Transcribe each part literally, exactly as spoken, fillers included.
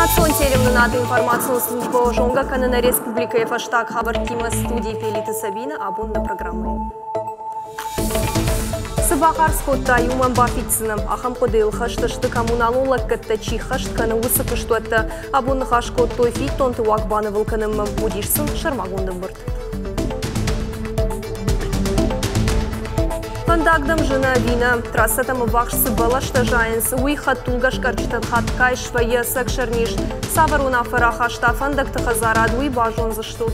Национ телеуынынады информацион службӕ зонгӕ кӕны нӕ республикӕйы фӕстаг хабӕрттимӕ, студийы Пелиты Сабина. Абон нӕ программӕйы. Цы бахардз кодтай, уымӕн бафиддзынӕ. Ахӕм хъуыдыйыл хӕст сты, коммуналон лӕггӕдтӕ чи ххӕст кӕны, уыцы куыстуӕттӕ. Абон ныхас кодтой фиддонты уаг банывыл кӕнынмӕ. Уыдис сын сӕрмагонд ӕмбырд. Фӕндаг дӕм зыны ӕви нӕ? Трассӕтӕм ӕввахс цы бӕлӕстӕ зайынц, уый хӕдтулгӕ скъӕрджытӕн хатгай свӕййы ӕцӕг сӕрниз. Цавӕр уынаффӕ рахаста фӕндӕгты хӕдзарад, уый базондзыстут.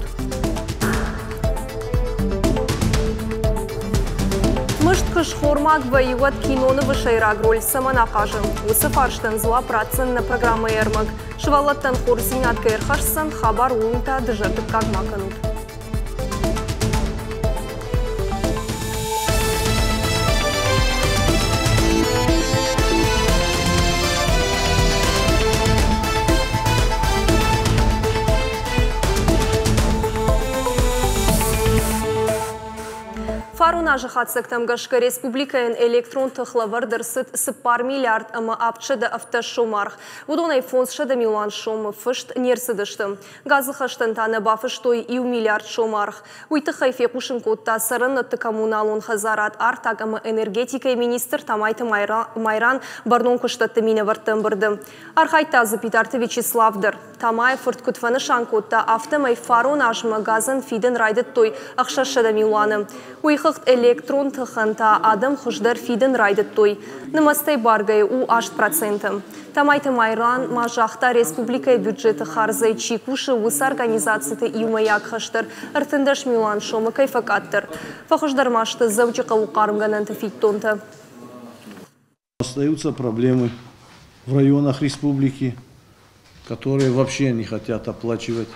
Мыст куы схормаг вӕййы, уӕд кинонывы сӕйраг роль цӕмӕн ахъазы? Уыцы фарстӕн дзуапп ратдзӕн нӕ программӕйы ӕрмӕг. Сывӕллӕттӕн хорздзинад кӕй ӕрхӕсдзӕн, хабар ууыл та дызӕрдыггаг ма кӕнут. Фарон азы хатдзӕгтӕм гӕсгӕ республикӕйӕн электрон тых лӕвӕрд ӕрцыд цыппар миллиард ӕмӕ авдсӕдӕ ӕвддӕс сомы аргъ. Уыдонӕй фондзсӕдӕ милуан сомы фыст не рцыдысты. Газы хӕстӕн та нӕ бафыстой иу миллиард сомы аргъ. Уый тыххӕй фехъусын кодта цӕрӕнуӕтты коммуналон хӕдзарад, артаг ӕмӕ энергетикӕйы министр Тамайты Майран бӕрнон куыстӕтты минӕвӕртты ӕмбырды. Архайдта дзы Битарты Вячеслав дӕр. Тамайы фырт куыд фӕнысан кодта, афтӕмӕй фарон азмӕ газӕн фидын райдыдтой ӕхсӕзсӕдӕ милуаны. Уый хыгъд электрон тыхӕн та адӕм хуыздӕр фидын райдыдтой. Нымӕцтӕй баргӕйы у аст проценты. Тамайты Майран ма загъта, республикӕйы бюджеты хардзӕй чи кусы, уыцы организациты иумӕйаг хӕс дӕр ӕртындӕс милуан сомы кӕй фӕкъаддӕр. Фӕхуыздӕр ма сты Дзӕуджыхъӕуы хъармгӕнӕнты фиддонтӕ. Остаются проблемы в районах республики, которые вообще не хотят оплачивать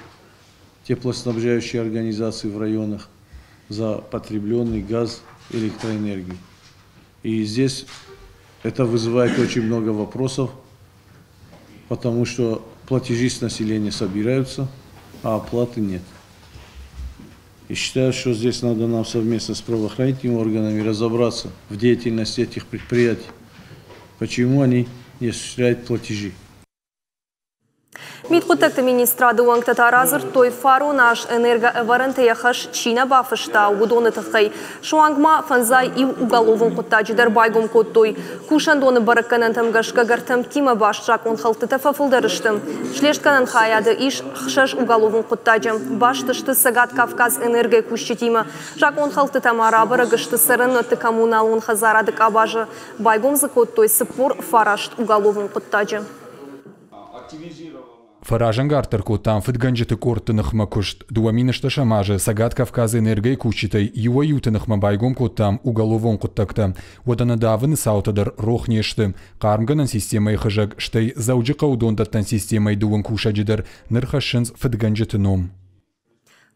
теплоснабжающие организации в районах за потребленный газ, электроэнергию. И здесь это вызывает очень много вопросов, потому что платежи с населения собираются, а оплаты нет. И считаю, что здесь надо нам совместно с правоохранительными органами разобраться в деятельности этих предприятий, почему они не осуществляют платежи. Мидхъуыддӕгты министрады уӕнгтӕ та радзырдтой, фарон аз энергоӕвӕрӕнты йӕ хӕс чи нӕ бафыста, уыдоны тыххӕй. Суанг ма фӕндзай иу уголовон хъуыддаджы дӕр байгом кодтой. Кусӕндоны бӕрӕггӕнӕнтӕм гӕсгӕ гӕртӕмттимӕ баст закъонхӕлдтытӕ фӕфылдӕр сты. Слестгӕнӕн хайады ис ӕхсӕз уголовон хъуыддаджы. Баст сты Цӕгат Кавказ энергойы кусджытимӕ. Закъонхӕлдтытӕ ма рабӕрӕг сты цӕрӕнуӕтты коммуналон хӕдзарады къабазы. Байгом дзы кодтой цыппор фараст уголовон хъуыддаджы. Фӕразӕнгарддӕр кодтам фыдгӕнджыты къордты ныхмӕ куыст. Дыууӕ мин ӕстдӕсӕм азы Цӕгат Кавказы энергойы кусджытӕй иуӕй-иуты ныхмӕ байгом кодтам уголовон хъуыддӕгтӕ. Уӕдӕ нӕ давыны цаутӕ дӕр рох не сты. Хъармгӕнӕн системӕйы хызӕг, стӕй Дзӕуджыхъӕуы дондӕттӕн системӕйы дыууын кусӕджы дӕр ныр хӕссынц фыдгӕнджыты ном.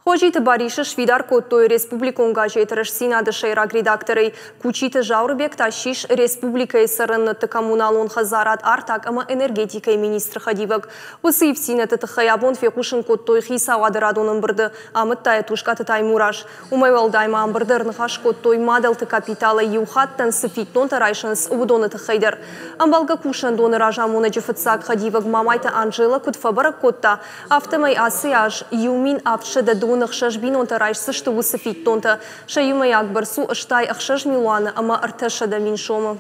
Хозиты Барисы сфидар кодтой республикон газет «Рӕстдзинад-ы» сӕйраг редакторӕй. Кучиты Зауырбег та ссис республикӕйы цӕрӕнуӕтты коммуналон хӕдзарад, артаг ӕмӕ энергетикӕйы министры хӕдивӕг. Уыцы ивддзинӕдты тыххӕй абон фехъусын кодтой хицауады радон ӕмбырды, амыдта йӕ Тускъаты Таймураз. Уымӕй уӕлдай ма ӕмбырды ӕрныхас кодтой, мадӕлты капиталӕй иу хаттӕн цы фиддонтӕ райсынц, уыдоны тыххӕй дӕр. Ӕмбӕлгӕ кусӕндоны разамонӕджы фыццаг хӕдивӕг Мамайты Анжела куыд фӕбӕрӕг кодта, афтӕмӕй ацы аз иу мин авдсӕдӕ дыууын ӕхсӕз бинонтӕ райсдзысты уыцы фиддонтӕ. Сӕ иумӕйаг бӕрц у ӕстай ӕхсӕз милуаны ӕмӕ ӕртӕсӕдӕ мин сомы.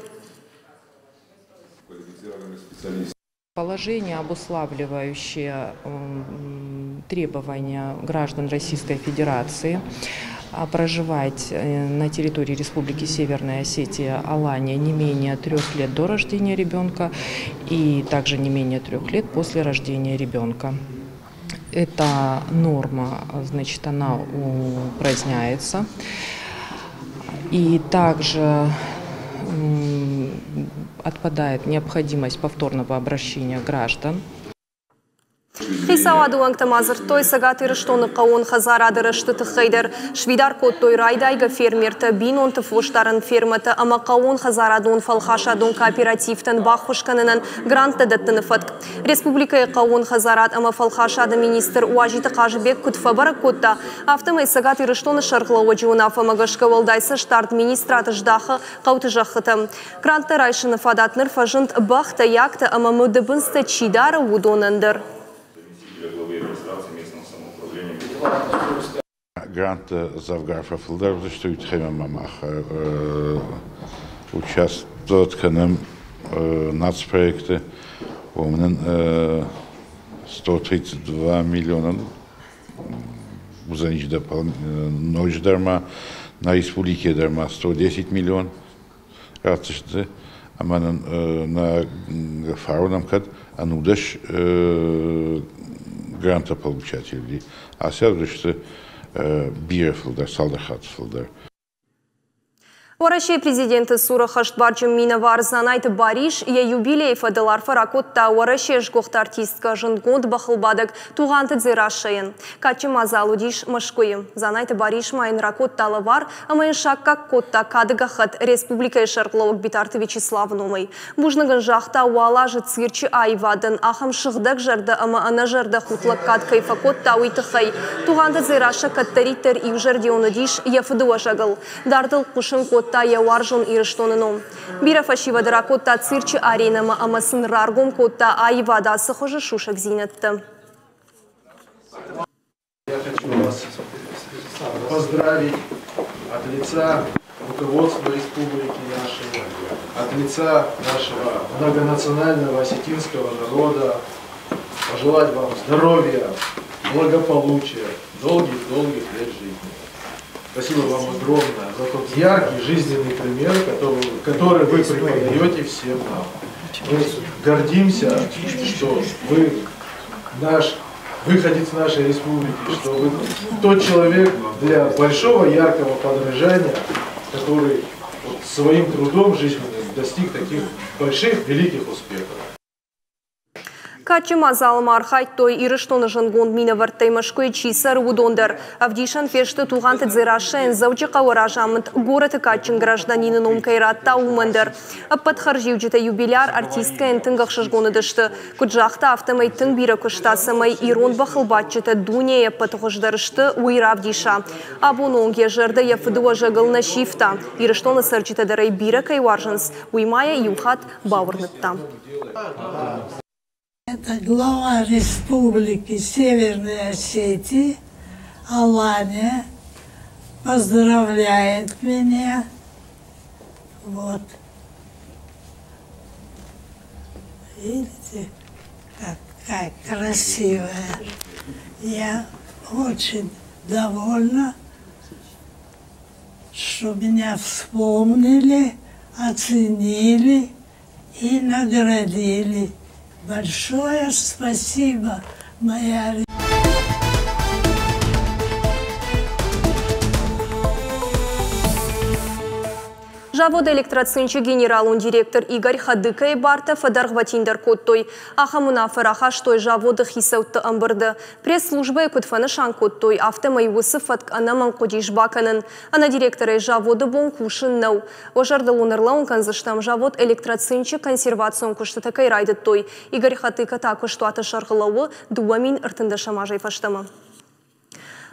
Положение, обуславливающее требования граждан Российской Федерации проживать на территории Республики Северная Осетия, Алания не менее трех лет до рождения ребенка и также не менее трех лет после рождения ребенка. Эта норма, значит, она упраздняется. И также отпадает необходимость повторного обращения граждан. Хицауады уӕнгтӕ ма дзырдтой Цӕгат Ирыстоны хъӕууон хӕдзарады рӕзты тыххӕй дӕр. Сфидар кодтой райдайгӕ фермертӕ, бинонты фосдарӕн фермӕтӕ ӕмӕ хъӕууон хӕдзарадон фӕлхасадон кооперативтӕн баххуыс кӕнынӕн гранттӕ дӕттыны фӕтк. Республикӕйы хъӕууон хӕдзарад ӕмӕ фӕлхасады министр Уазиты Хъазыбег куыд фӕбӕрӕг кодта, афтӕмӕй Цӕгат Ирыстоны сӕргълӕууӕджы уынаффӕмӕ гӕсгӕ уӕлдай цӕстдард министрад здахы хъӕуты зӕххытӕм. Гранттӕ райсыны фадат ныр фӕзынд бӕхтӕ, яктӕ ӕмӕ мыдыбындзтӕ чи дары, уыдонӕн дӕр. Гранттӕ дзӕвгар фӕфылдӕр уыдзысты, уый тыххӕй ма мах участвовать кӕнӕм нацпроекты. Уымӕн сто тридцать два миллиона уыдзӕнис ноджыдӕр ма на республике дӕр ма сто десять миллион ратдзысты. Ӕмӕ нын нӕ фаронӕм кӕд ӕнудӕс грантополучателей. Ацы аз уыдысты бирӕ фылдӕр, цалдӕр хатты фылдӕр. Уӕрӕсейы президенты цуры хӕстбарджын минӕвар Дзанайты Барис йӕ юбилейы фӕдыл арфӕ ракодта Уӕрӕсейы сгуыхт артисткӕ, зындгонд бӕхылбадӕг Тугъанты Дзерассӕйӕн. Кадджын мадзал уыдис Мӕскуыйы. Дзанайты Барис ма йын ракодта лӕвар ӕмӕ йын саккаг кодта кады гӕххӕтт республикӕйы сӕргълӕууӕг Битарты Вячеславы номӕй. Бузныг ын загъта, уал азы цирчы аивадӕн ахӕм сыгъдӕг зӕрдӕ ӕмӕ ӕнӕзӕрдӕхудт лӕггад кӕй фӕкодта, уый тыххӕй. Тугъанты Дзерассӕ кӕддӕриддӕр иузӕрдион уыдис йӕ фыдыуӕзӕгыл. Дардыл хъуысын кодта йӕ уарзон Ирыстоны ном. Бирӕ фӕсивӕды ракодта цирчы аренӕмӕ ӕмӕ сын раргом кодта аивады ацы хуызы сусӕгдзинӕдтӕ. Я хочу вас поздравить от лица руководства республики нашей, от лица нашего многонационального осетинского народа, пожелать вам здоровья, благополучия, долгих-долгих лет жизни. Спасибо вам огромное за тот яркий жизненный пример, который, который вы преподаете всем нам. Мы гордимся, что вы наш выходец нашей республики, что вы тот человек для большого яркого подражания, который вот своим трудом жизненным достиг таких больших, великих успехов. Кадджын мадзалы ма архайдтой Ирыстоны зындгонд минӕвӕрттӕй Мӕскуыйы чи цӕры, уыдон дӕр. Ӕвдисӕн фесты Тугъанты Дзерассӕйӕн Дзӕуджыхъӕуы разамынд горӕты кадджын гражданины ном кӕй радта, уымӕн дӕр. Ӕппӕт хӕрзиуджытӕ юбиляр артисткӕйӕн тынг ӕхсызгон уыдысты. Куыд загъта, афтӕмӕй тынг бирӕ куыста, цӕмӕй ирон бӕхылбадджытӕ дунейы ӕппӕты хуыздӕр сты, уый равдиса. Абоны онг йӕ зӕрдӕ йӕ фыдыуӕзӕгыл нӕ сивта. Ирыстоны цӕрджытӕ дӕр ӕй бирӕ кӕй уарзынц, уый ма йӕ иу хатт бауырныдта. Это глава республики Северной Осетии, Алания, поздравляет меня. Вот. Видите, какая красивая. Я очень довольна, что меня вспомнили, оценили и наградили. Большое спасибо, моя Завод «Электроцинчы» генералон директор Игорь Хадыкайы бартӕ фӕдӕргъвӕтиндӕр кодтой. Ахӕм уынаффӕ рахастой заводы хицӕутты ӕмбырды. Пресс-службӕйы куыд фӕнысан кодтой, афтӕмӕй уыцы фӕтк ӕнӕмӕнг хъуыдис бакӕнын. Ӕнӕ директорӕй заводы бон кусын нӕу. Уӕ зӕрдыл уын ӕрлӕууын кӕндзыстӕм, завод «Электроцинчы» консервацион куыстытӕ кӕй райдыдтой. Игорь Хатыка та куыстуаты сӕргъы лӕууы дыууӕ мин ӕртындӕсӕм азӕй фӕстӕмӕ.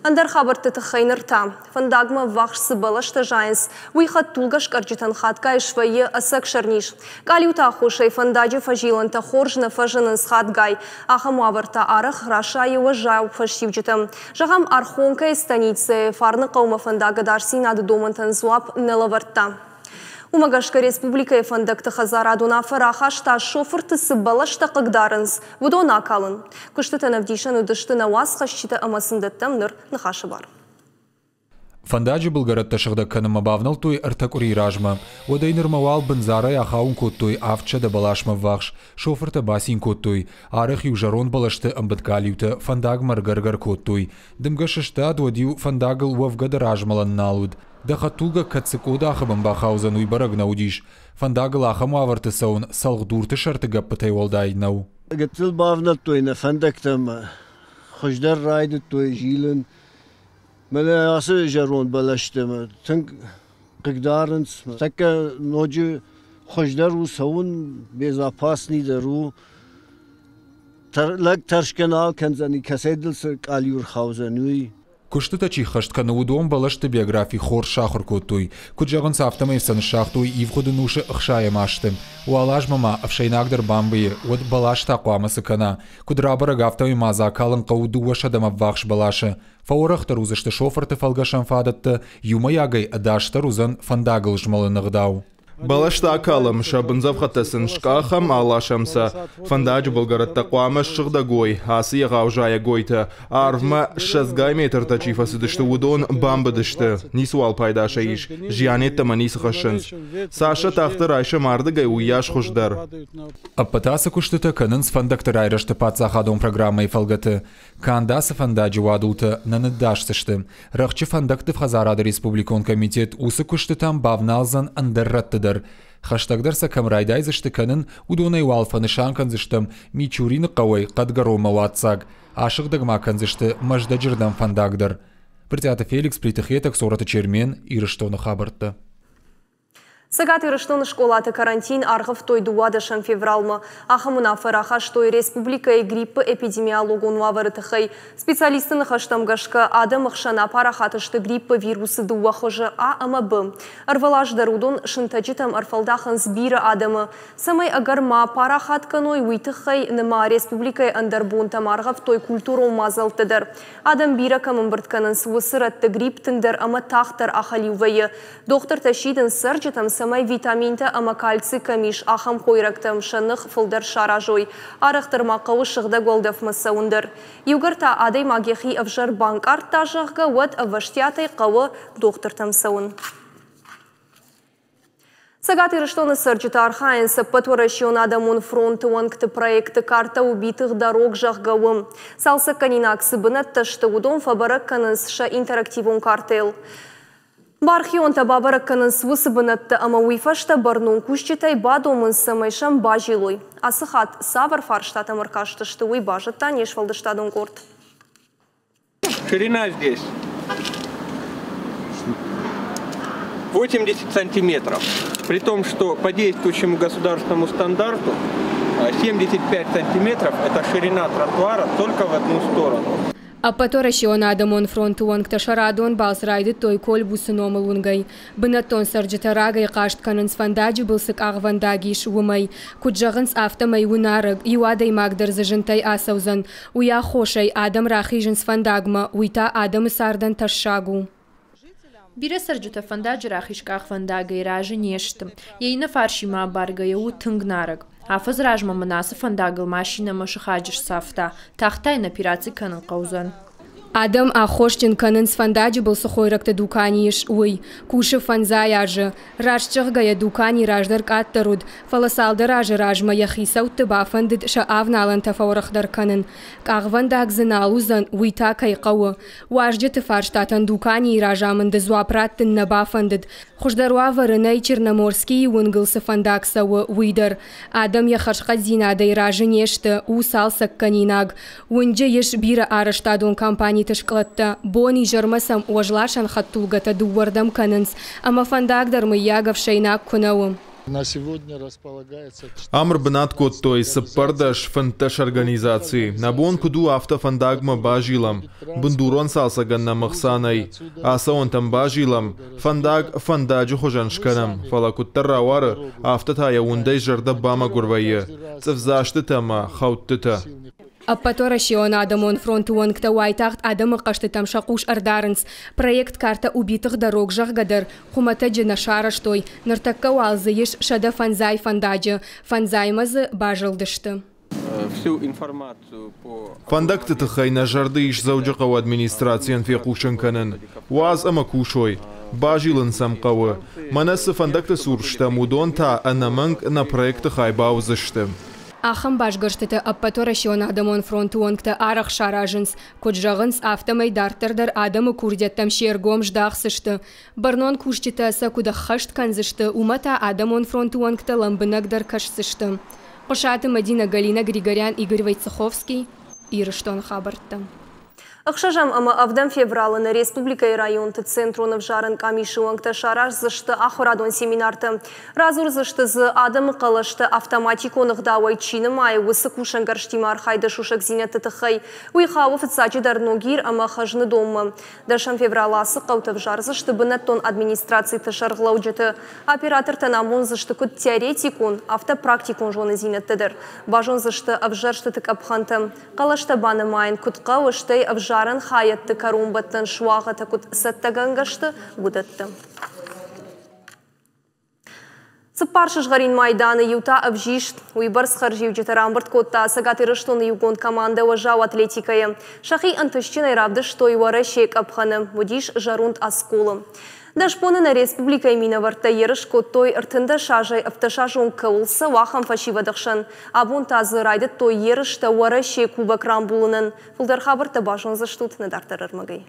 Ӕндӕр хабӕртты тыххӕй ныр та. Фӕндагмӕ ӕввахс цы бӕлӕстӕ зайынц, уый хӕдтулгӕ скъӕрджытӕн хатгай свӕййы ӕцӕг сӕрниз. Къалиуты аххосӕй фӕндаджы фӕзилӕнтӕ хорз нӕ фӕзынынц хатгай. Ахӕм уавӕртӕ арӕх расайы уӕззау фӕстиуджытӕм. Зӕгъӕм, Архонкӕйы станицӕйы Фарныхъӕумӕ фӕндаг ӕдасдзинады домӕнтӕн дзуапп нӕ лӕвӕрдта. Уымӕ гӕсгӕ республикӕйы фӕндӕгты хӕдзарад уынаффӕ рахаста, шофырты цы бӕлӕстӕ хъыгдарынц, уыдон акалын. Куыстытӕн ӕвдисӕн уыдысты нӕ уацхӕсджытӕ ӕмӕ сын дӕттӕм ныр ныхасы бар. Фӕндаджы былгӕрӕттӕ сыгъдӕг кӕнынмӕ бавнӕлдтой ӕртӕ къуырийы размӕ. Уӕдӕй нырмӕ уал бындзарӕй ахауын кодтой авдсӕдӕ бӕласмӕ ӕввахс. Шофыртӕ бацин кодтой. Арӕх-иу зӕронд бӕлӕсты ӕмбыд къалиутӕ фӕндагмӕ ӕргӕр-гӕр кодтой. Дымгӕ сыстад, уӕд-иу фӕндагыл уӕвгӕ дӕр азмӕлӕн нал уыд. Дӕ хӕдтулгӕ кӕд цы къодахы бын бахаудзӕн, уый бӕрӕг нӕ уыдис. Фӕндагыл ахӕм уавӕрты цӕуын цӕлхдурты сӕрты гӕппытӕй уӕлдай нӕу. Гыццыл бавнӕлдтой нӕ фӕндӕгтӕм, хуыздӕр райдыдтой зилын. Мӕнӕ ацы зӕронд бӕлӕстӕ тынг хъыгдарынц. Тӕккӕ ноджы хуыздӕр у цӕуын, безопасныйдӕр у. Лӕг тӕрсгӕ нал кӕндзӕни, кӕцӕй дыл цы къалиу ӕрхаудзӕн, уый. Куыстытӕ чи ххӕст кӕны, уыдон бӕлӕсты биографи хорз сахуыр кодтой. Куыд зӕгъынц, афтӕмӕй сӕ ныссагътой ивгъуыд ӕнусы ӕхсайӕм азты. Уал азмӕ ма ӕфсӕйнаг дӕр бамбыйы, уӕд бӕлас та хъуамӕ цы кӕна? Куыд рабӕрӕг, афтӕмӕй ма дзы акалын хъӕуы дыууӕсӕдӕмӕ ӕввахс бӕласы. Фӕуӕрӕхдӕр уыдзысты шофырты фӕлгӕсӕн фадӕттӕ, иумӕйагӕй ӕдасдӕр уыдзӕн фӕндагыл змӕлыны ӕгъдау. Бӕлӕстӕ акалӕм, сӕ бындзӕфхӕдтӕ сын скъахӕм, аласӕм сӕ. Фӕндаджы былгӕрӕттӕ хъуамӕ ссыгъдӕг уой, ацы егъау зайӕгойтӕ. Арвмӕ ссӕдзгай метртӕ чи фӕцыдысты, уыдон бамбыдысты. Ницыуал пайда сӕ ис, зиан йеддӕмӕ ницы хӕссынц. Цас сӕ тагъддӕр райсӕм ардыгӕй, уыйас хуыздӕр. Ӕппӕт ацы куыстытӕ кӕнынц фӕндӕгты райрӕзты паддзахадон программӕйы фӕлгӕты. Канд ацы фӕндаджы уадултӕ нӕ ныддасдзысты. Рӕхджы фӕндӕгты хӕдзарады республикон комитет уыцы куыстытӕм бавналдзӕн ӕндӕр рӕтты дӕр. Хӕстӕгдӕр сӕ кӕм райдайдзысты кӕнын, уыдонӕй уал фӕнысан кӕндзыстӕм Мичурины хъӕуӕй Хъӕдгӕронмӕ уадздзаг. Асыгъдӕг ма кӕндзысты Мӕздӕджы рдӕм фӕндаг дӕр. Брытъиаты Феликс, Плиты Хетӕг, Цорӕты Чермен, Ирыстоны хабӕрттӕ. Цӕгат Ирыстоны скъолаты карантин аргъӕвтой дыууадӕсӕм февралмӕ. Ахӕм уынаффӕ рахастой республикӕйы гриппы эпидемиологон уавӕры тыххӕй. Специалистты ныхӕстӕм гӕсгӕ, адӕмы хсӕн апарахат сты гриппы вирусы дыууӕ хуызы А ӕмӕ Б. Ӕрвылаз дӕр уыдон сынтӕджытӕм ӕрфӕлдахынц бирӕ адӕмы. Цӕмӕй ӕгӕр ма парахат кӕной, уый тыххӕй ныма республикӕйы ӕндӕр бонтӕм аргъӕвтой культурон мадзӕлтты дӕр. Адӕм бирӕ кӕм ӕмбырд кӕнынц, уыцы рӕтты грипп тынгдӕр ӕмӕ тагъддӕр ахӕлиу вӕййы. Дохтыртӕ сидынц цӕрджытӕм, цӕмӕй витаминтӕ ӕмӕ кальций кӕм ис, ахӕм хойрӕгтӕм сӕ ных фылдӕр саразой. Арӕхдӕр ма хъӕуы сыгъдӕг уӕлдӕфмӕ цӕуын дӕр. Иугӕр та адӕймаг йӕхи ӕвзӕр банкъардта, зӕгъгӕ, уӕд ӕвӕстиатӕй хъӕуы дохтыртӕм цӕуын. Цӕгат Ирыстоны цӕрджытӕ архайынц ӕппӕтуӕрӕсеон адӕмон фронты уӕнгты проекты «Карта убитых дорог», зӕгъгӕ, уым. Цалцӕггӕнинаг цы бынӕттӕ сты, уыдон фӕбӕрӕг кӕнынц сӕ интерактивон картӕйыл. Бархионтӕ бабӕрӕг кӕнынц уыцы бынӕттӕ ӕмӕ уый фӕстӕ бӕрнон кусджытӕй бадомынц, цӕмӕй сӕм базилой. Ацы хатт цавӕр фарстатӕм ӕркастысты, уый базыдта не сфӕлдыстадон къорд. Ширина здесь восемьдесят сантиметров. При том, что по действующему государственному стандарту семьдесят пять сантиметров – это ширина тротуара только в одну сторону. Ӕппӕтуӕрӕсеон адӕмон фронты уӕнгтӕ сӕ радон балц райдыдтой Кольбусы номыл уынгӕй. Бынӕттон цӕрджытӕ рагӕй хъаст кӕнынц фӕндаджы был цы къахвӕндаг ис, уымӕй. Куыд зӕгъынц, афтӕмӕй у нарӕг, иу адӕймаг дӕр дзы зынтӕй ацӕудзӕн. Уый аххосӕй адӕм рахизынц фӕндагмӕ, уый та адӕмы цардӕн тӕссаг у. Бирӕ цӕрджытӕ фӕндаджы рахиз къахвӕндагӕй разы не сты. Йӕ иннӕ фарсимӕ абаргӕйӕ у тынг нарӕг. Афӕдзы размӕ мын ацы фӕндагыл машинӕ мӕ сыхаджы сцавта. Тагъд та йын операци кӕнын хъӕудзӕн. Адӕм аххосджын кӕнынц фӕндаджы был цы хойрӕгты дукани ис, уый. Кусы фӕндзай азы. Раст зӕгъгӕйӕ, дукани раздӕр къаддӕр уыд, фӕлӕ цалдӕр азы размӕ йӕ хицӕутты бафӕндыд сӕ авналӕнтӕ фӕуӕрӕхдӕр кӕнын. Къахвӕндаг дзы нал уыдзӕн, уый та кӕй хъӕуы. Уазджыты фарстатӕн дуканийы разамынды дзуапп раттын нӕ бафӕндыд. Хуыздӕр уавӕры нӕй Черноморскийы уынгыл цы фӕндаг цӕуы, уый дӕр. Адӕм йӕ хӕрзхъӕддзинадӕй разы не сты, у цалцӕггӕнинаг. Уынджы ис бирӕ арӕзтадон компаниты скълӕдтӕ. Бон изӕрмӕ сӕм уӕзласӕн хӕдтулгӕтӕ дыууӕрдӕм кӕнынц, ӕмӕ фӕндаг дӕр мыййаг ӕфсӕйнаг куы нӕ у. Ам ӕрбынат кодтой цыппӕрдӕс фынддӕс организацийы. Нӕ бон куыд у, афтӕ фӕндагмӕ базилӕм. Бындурон цалцӕгӕн нӕм ӕхца нӕй. Ацӕуӕнтӕм базилӕм, фӕндаг фӕндаджы хуызӕн скӕнӕм, фӕлӕ куыддӕр рауары, афтӕ та йӕ уындӕй зӕрдӕ бамӕгуыр вӕййы. Цъыфдзастытӕ ӕмӕ хӕудтытӕ. Ӕппӕтуӕрӕсеон адӕмон фронты уӕнгтӕ уайтагъд адӕмы хъӕстытӕм сӕ хъус ӕрдарынц. Проект «Карта убитых дорог», зӕгъгӕ дӕр, хуымӕтӕджы нӕ сарӕзтой. Ныртӕккӕ уал дзы ис сӕдӕ фӕндзай фӕндаджы. Фӕндзаймӕ дзы базылдысты. Фӕндӕгты тыххӕй нӕ зӕрды ис Дзӕуджыхъӕуы администрацийӕн фехъусын кӕнын. Уадз ӕмӕ кусой. Базилын сӕм хъӕуы. Мӕнӕ цы фӕндӕгты цур стӕм, уыдон та ӕнӕмӕнг нӕ проекты хай бауыдзысты. Ахӕм басгӕрстытӕ ӕппӕтуӕрӕсеон адӕмон фронты уӕнгтӕ арӕх саразынц. Куыд зӕгъынц, афтӕмӕй дарддӕр дӕр адӕмы курдиӕттӕм се ргом здахдзысты. Бӕрнон кусджытӕ сӕ куыд ӕххӕст кӕндзысты, уымӕ та адӕмон фронты уӕнгтӕ лӕмбынӕгдӕр кӕсдзысты. Хъуысаты Мӕдинӕ, Галина Григорян, Игорь Войцеховский, Ирыстоны хабӕрттӕ. Ӕхсӕзӕм ӕмӕ ӕвдӕм февралы нӕ республикӕйы районты центрон ӕвзарӕн къамисы уӕнгтӕ сараздзысты ахуырадон семинартӕ. Радзурдзысты дзы адӕмы хъӕлӕстӕ автоматикон ӕгъдауӕй чи нымайы, уыцы кусӕнгӕрзтимӕ архайды сусӕгдзинӕдты тыххӕй. Уый хауы фыццаджыдӕр Ногир ӕмӕ Хӕзныдонмӕ. Дӕсӕм февралы ацы хъӕуты ӕвзардзысты бынӕттон администрациты сӕргълӕуджыты. Оператортӕн амондзысты куыд теоретикон, афтӕ практикон зонындзинӕдтӕ дӕр. Базондзысты ӕвзӕрстыты къӕпхӕнтӕ. Хъӕлӕстӕ банымайын куыд хъӕуы, стӕй ӕвзарӕн хайӕдты кӕронбӕттӕн суагъӕтӕ куыд цӕттӕгӕнгӕ сты, уыдӕттӕ. Цыппар сызгъӕрин майданы, иу та ӕвзист. Уыйбӕрц хӕрзиуджытӕ рамбырд кодта Цӕгат Ирыстоны иугонд командӕ уӕззау атлетикӕйы. Сӕхи ӕнтыстджынӕй равдыстой Уӕрӕсейы къӕпхӕны, уыдис зӕронд Осколы. Дӕс боны нӕ республикӕйы минӕвӕрттӕ ерыс кодтой ӕртындӕс азӕй ӕвддӕс азы онг кӕуыл цӕуы, ахӕм фӕсивӕды хсӕн. Абон та дзы райдыдтой ерыстӕ Уӕрӕсейы кубок рамбулынӕн. Фылдӕр хабӕрттӕ базондзыстут нӕ дарддӕр ӕрмӕгӕй.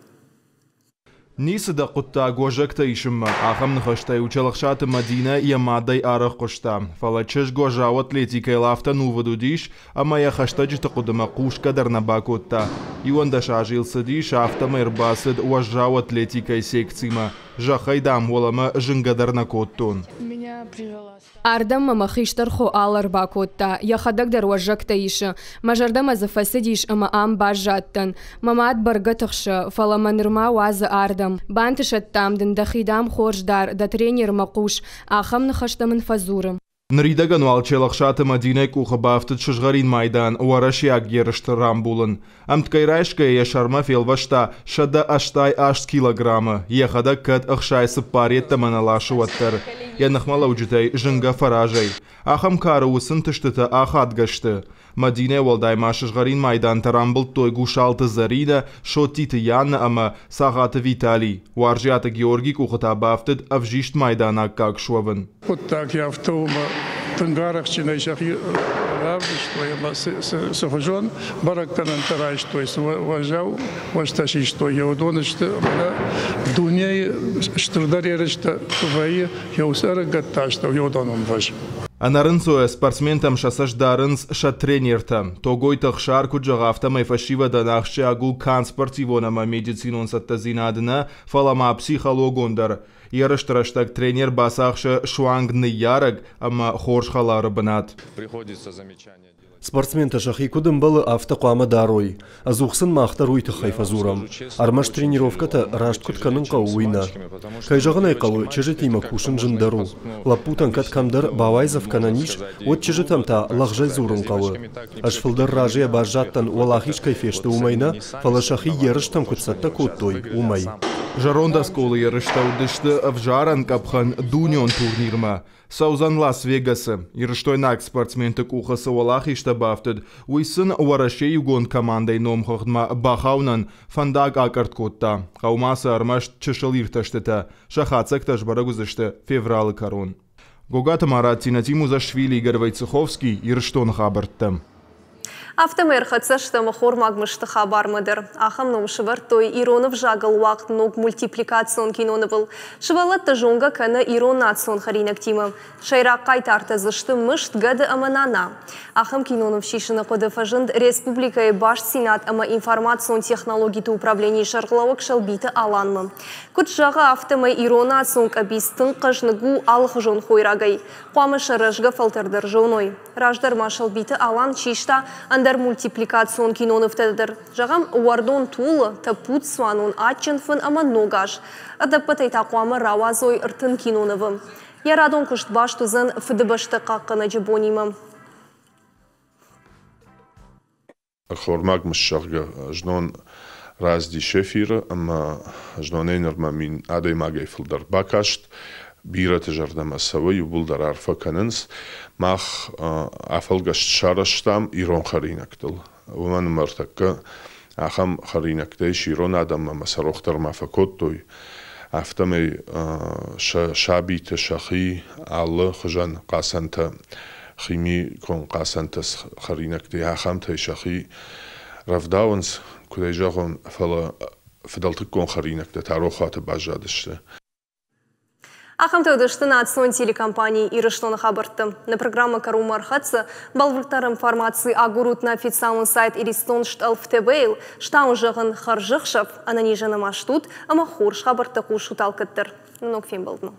Ницы дӕ хъуыддаг уӕзӕгтӕ исынмӕ, ахӕм ныхӕстӕй Челӕхсаты Мӕдинӕ йӕ мадӕй арӕх хъуыста. Фӕлӕ чызг уӕззау атлетикӕйыл афтӕ ӕнувыд уыдис, ӕмӕ йӕ хӕстӕджыты хъуыдымӕ хъусгӕ дӕр нӕ бакодта. Иуӕндӕс азы йыл цыдис, афтӕмӕй ӕрбацыд уӕззау атлетикӕйы секцимӕ. Зӕххӕй, дам, уӕлӕмӕ зынгӕ дӕр нӕ кодтон. Ардӕм мӕ мӕ хистӕр хо Алла ӕрбакодта, йӕхӕдӕг дӕр уӕзӕгтӕ исы. Мӕ зӕрдӕмӕ дзы фӕцыдис ӕмӕ ам баззадтӕн. Мӕ мад бӕргӕ тыхсы, фӕлӕ мӕ нырма уадзы ардӕм. Бантысӕд, дам, дын, дӕхи, дам, хорз дар, дӕ тренермӕ хъус. Ахӕм ныхӕстӕ мын фӕдзуры. Ныридӕгӕн уал Челӕхсаты Мӕдинӕйы къухы бафтыд сызгъӕрин майдан уӕрӕсейаг ерысты рамбулын. Ӕмткӕй райсгӕйӕ йӕ сӕрмӕ фелвӕста сӕдӕ ӕстай аст килограммы, йӕхӕдӕг кӕд ӕхсай цыппар йеддӕмӕ нӕ ласы, уӕддӕр. Йӕ ныхмӕлӕуджытӕй зынгӕ фӕразӕй. Ахӕм кары уыцы ӕнтыстытӕ ахадгӕ сты. Мӕдинӕ уӕлдай ма сызгъӕрин майдантӕ рамбылдтой Гусалты Зӕринӕ, Соттиты Янна ӕмӕ Цагъаты Виталий. Уарзиаты Георгий къухы та бафтыд ӕвзист майдан аккаг суӕвын. Хъуыддаг афтӕ у, ӕмӕ тынг арӕхстджынӕй сӕхи равдыстой ӕмӕ цы хуызон бӕрӕггӕнӕнтӕ райстой, цы уӕззау уӕзтӕ систой, уыдон сты ӕмӕ дунейы стырдӕр ерыстӕ куы вӕййы, йӕ уыцы ӕрыгӕтты астӕу уыдон ӕмвӕз. Ӕнӕрынцойӕ спортсментӕм сӕ цӕст дарынц сӕ тренертӕ. Тогойты Ӕхсар куыд зӕгъы, афтӕмӕй фӕсивӕдӕн ахсджиаг у канд спортивон ӕмӕ медицинон цӕттӕдзинад нӕ, фӕлӕ ма психологон дӕр. Ерысты рӕстӕг тренер бацахсы суанг ныййарӕг ӕмӕ хорз хӕлары бынат. Спортсментӕ сӕхи куыд ӕмбӕлы, афтӕ хъуамӕ дарой. Ӕдзух сын мах дӕр уый тыххӕй фӕдзурӕм. Ӕрмӕст тренировкӕтӕ раст куыд кӕнын хъӕуы, уый нӕ. Кӕй зӕгъын ӕй хъӕуы, чызджытимӕ кусын зындӕр у. Лӕппутӕн кӕд кӕмдӕр бауайдзӕф кӕнӕн ис, уӕд чызджытӕм та лӕгъзӕй дзурын хъӕуы. Ӕз фылдӕр разыйӕ баззадтӕн, уӕлахиз кӕй фесты, уымӕй нӕ, фӕлӕ сӕхи ерыстӕм куыд цӕттӕ кодтой, уымӕй. Зӕронд Осколы ерыстӕ уыдысты ӕвзарӕн къӕпхӕн дунеон турнирмӕ. Цӕудзӕн Лас-Вегасы. Ирыстойнаг спортсменты къухы цы уӕлахизтӕ бафтыд, уый сын Уӕрӕсейы иугонд командӕйы номхыгъдмӕ бахауынӕн фӕндаг акъӕртт кодта. Хъӕуы ма сӕ ӕрмӕст чысыл иртӕстытӕ. Сӕ хатдзӕгтӕ сбӕрӕг уыдзысты февралы кӕрон. Гогаты Марат, Тинатин Музашвили, Игорь Войцеховский, Ирыстоны хабӕрттӕ. Афтӕмӕй ӕрхӕццӕ стӕм ӕххормаг мысты хабармӕ дӕр. Ахӕм ном сӕвӕрдтой ирон ӕвзагыл уагъд ног мультипликацион кинонывыл. Сывӕллӕтты зонгӕ кӕны ирон национ хӕринӕгтимӕ. Сӕйраг хъайтартӕ дзы сты мыст, гӕды ӕмӕ нана. Ахӕм киноныв сисыны хъуыды фӕзынд республикӕйы бастдзинад ӕмӕ информацион технологиты управленийы сӕргълӕууӕг Сӕлбиты Аланмӕ. Куыд зӕгъы, афтӕмӕй ирон национ къӕбиц тынг хъӕзныг у алыхуызон хойрагӕй. Хъуамӕ сӕ рӕзгӕ фӕлтӕр дӕр зоной. Раздӕр ма Сӕлбиты Алан систа ӕндӕр мультипликацион кинонывтӕ дӕр. Зӕгъӕм, Уӕрдон тулы, Тӕппуд цуанон, Адджын фын ӕмӕ Ног аз. Ӕдӕппӕтӕй та хъуамӕ рауадзой ӕртын кинонывы. Йӕ радон куыст баст уыдзӕн Фыдыбӕстӕ хъахъхъӕнӕджы бонимӕ. Ӕххормаг мыст, зӕгъгӕ, знон рацыдис эфиры ӕмӕ знонӕй нырмӕ мин адӕймагӕй фылдӕр бакаст. Бирӕты зӕрдӕмӕ цӕуы, иууылдӕр арфӕ кӕнынц. Мах афӕлгӕст сарӕзтам ирон хӕринӕгтыл. Уымӕн ӕмӕ ӕртӕккӕ ахӕм хӕринӕгтӕ ис ирон адӕммӕ ӕмӕ сӕ рох дӕр ма фӕкодтой. Афтӕмӕй сӕ сабиты сӕхи алы хуызӕн хъацӕнтӕ, химикон хъацӕнтӕ хӕринӕгтӕй ахӕмтӕй сӕхи рӕвдауынц, куыд ӕй зӕгъон, фӕлӕ фыдӕлтыккон хӕринӕгтӕ та рохуаты баззадысты. Ахӕмтӕ уыдысты национ телекомпани Ирыстоны хабӕрттӕ. Нӕ программӕ кӕронмӕ ӕрхӕццӕ. Бӕлвырддӕр информаци агурут нӕ официалон сайт Иристон стъӕлф ТВ-йыл. Стауын зӕгъын хӕрзӕхсӕв, ӕнӕнизӕн ӕмӕ стут ӕмӕ хорз хабӕрттӕ хъусут алкӕддӕр. Ног фембӕлдмӕ.